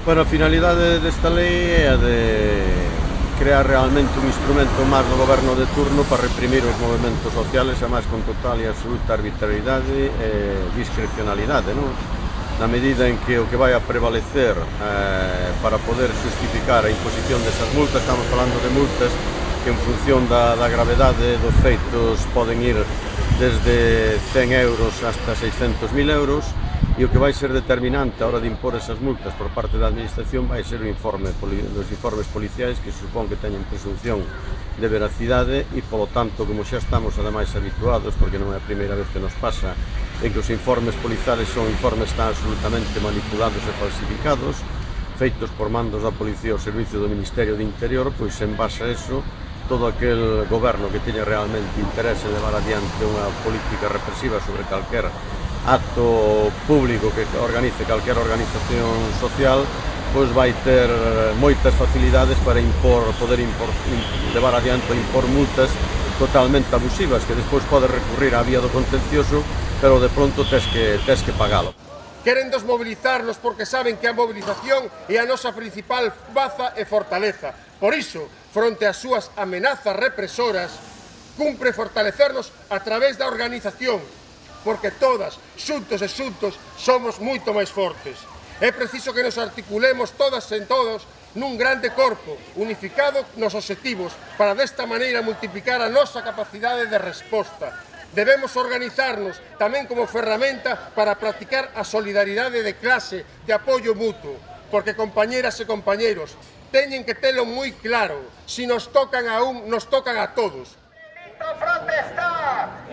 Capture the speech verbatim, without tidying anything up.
Bueno, a finalidade desta lei é a de crear realmente un instrumento máis do goberno de turno para reprimir os movimentos sociales, e máis con total e absoluta arbitrariedade e discrecionalidade, non? Na medida en que o que vai a prevalecer eh, para poder justificar a imposición desas multas, estamos falando de multas que en función da, da gravedade dos feitos poden ir desde cen euros hasta seiscentos mil euros, e o que vai ser determinante a hora de impor esas multas por parte da administración vai ser o informe, os informes policiais, que supón que teñen presunción de veracidade, e polo tanto, como xa estamos ademais habituados, porque non é a primeira vez que nos pasa, en que os informes policiais son informes tan absolutamente manipulados e falsificados, feitos por mandos da Policía ao servicio do Ministerio de Interior, pois en base a eso, todo aquel goberno que teña realmente interés en levar adiante unha política represiva sobre calquer acto público que organice calquer organización social, pois vai ter moitas facilidades para impor, poder impor, levar adiante ou impor multas totalmente abusivas, que despois pode recurrir á vía do contencioso, pero de pronto tes que, tes que pagalo. Queren desmobilizarnos porque saben que a movilización é a nosa principal baza e fortaleza. Por iso, fronte ás súas amenazas represoras, cumpre fortalecernos a través da organización, porque todas, xuntos e xuntos, somos moito máis fortes. É preciso que nos articulemos todas e todos nun grande corpo, unificado nos obxectivos, para desta maneira multiplicar a nosa capacidade de resposta. Debemos organizarnos tamén como ferramenta para practicar a solidaridade de clase, de apoio mutuo, porque, compañeras e compañeros, teñen que telo moi claro, se nos tocan a un, nos tocan a todos. ¡Protestar!